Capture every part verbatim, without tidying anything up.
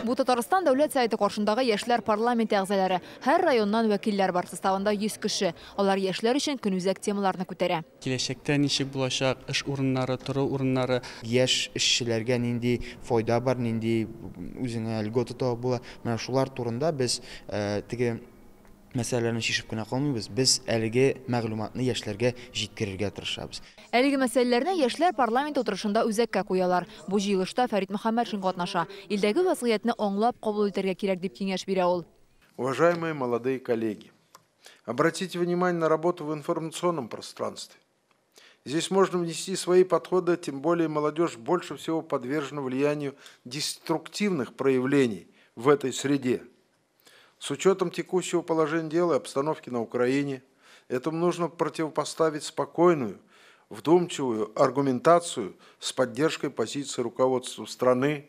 Бу Татарстан Дәүләт Советы каршындагы яшьләр парламенты әгъзалары. Һәр районнан вәкилләр бар, составында йөз кеше. Алар яшьләр өчен көнүзәк темаларны күтәрә. Киләчәктә ничек булачак, эш урыннары, тору урыннары. Яшь эшчеләргә нинди файда бар, нинди үзеңә льгота табып була. Менә шулар турында без теге мәсьәләләрне чишеп кенә калмыйбыз, без әлеге мәгълүматны яшьләргә җиткерергә тырышабыз. Әлеге мәсьәләләрне яшьләр парламент утырышында үзәккә куялар. Бу җыелышта Фәрит Мөхәммәтшин катнаша. Илдәге вазгыятьне аңлап кабул итәргә кирәк дип киңәш бирә ул. Уважаемые молодые коллеги, обратите внимание на работу в информационном пространстве. Здесь можно внести свои подходы, тем более молодежь больше всего подвержена влиянию деструктивных проявлений в этой среде. С учетом текущего положения дел и обстановки на Украине, этому нужно противопоставить спокойную, вдумчивую аргументацию с поддержкой позиции руководства страны,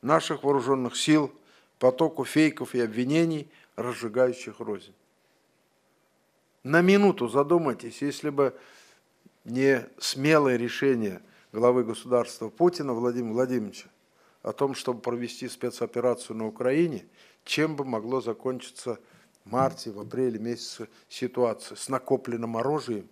наших вооруженных сил, потоку фейков и обвинений, разжигающих рознь. На минуту задумайтесь, если бы не смелое решение главы государства Путина Владимира Владимировича о том, чтобы провести спецоперацию на Украине, чем бы могло закончиться в марте, в апреле месяце ситуация с накопленным оружием.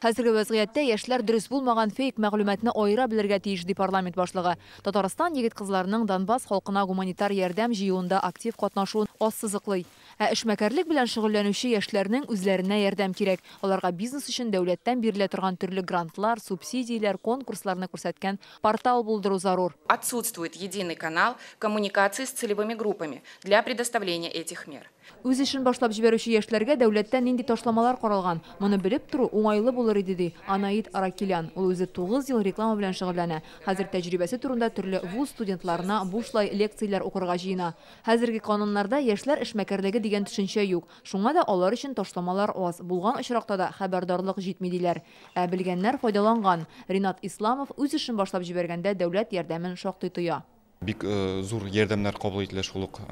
Хәзерге вазгыятьтә яшьләр дөрес булмаган фейк мәгълүматны аера белергә тиеш, ди парламент башлыгы. Татарстан егет-кызларының Донбасс халкына гуманитар ярдәм җыюында актив катнашуын ассызыклый. Ә эшмәкәрлек белән шөгыльләнүче яшьләрнең үзләренә ярдәм кирәк. Аларга бизнес өчен дәүләттән бирелә торган төрле грантлар, субсидияләр, конкурсларны күрсәткән портал булдыру зарур. Отсутствует единый канал коммуникации с целевыми группами для предоставления этих мер. Үз эшен башлап җибәрүче яшьләргә дәүләттән нинди ташламалар каралган? Моны белеп тору уңайлы булыр иде, ди Анаит Аракелян. Ул үзе тугыз ел реклама белән шөгыльләнә. Хәзер тәҗрибәсе турында төрле вуз студентларына бушлай лекцияләр укырга җыена. Хәзерге кануннарда яшьләр эшмәкәрлеге дигән төшенчә юк. Шуңа да алар өчен ташламалар аз. Булган очракта да хәбәрдарлык җитми диләр. Ә белгәннәр файдаланган. Ринат Исламов үз эшен башлап җибәргәндә дәүләт ярдәмен шактый тоя. Бик зур ярдәмнәр кабул ителә, шул ук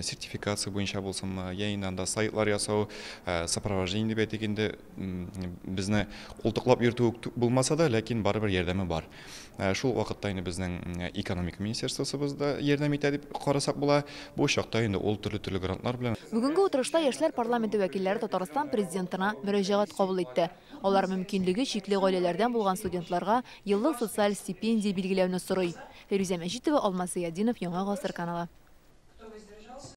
сертификация буенча булсынмы, я инде анда сайтлар ясау, сопровождение дип әйтик инде, безне култыклап йөртү булмаса да, ләкин барыбер ярдәме бар. Шул вакытта инде безнең экономика министерствосыбыз да ярдәм итә дип карасак була. Бу чакта инде ул төрле-төрле грантлар белән. Бүгенге утырышта яшьләр парламенты вәкилләре Татарстан президентына мөрәҗәгать кабул итте. Алар мөмкинлеге чикле гаиләләрдән булган студентларга еллык социаль стипендия билгеләүне сорый. Фирүзә Мәҗитова, Алмаз Зыятдинов, Яңа Гасыр каналы.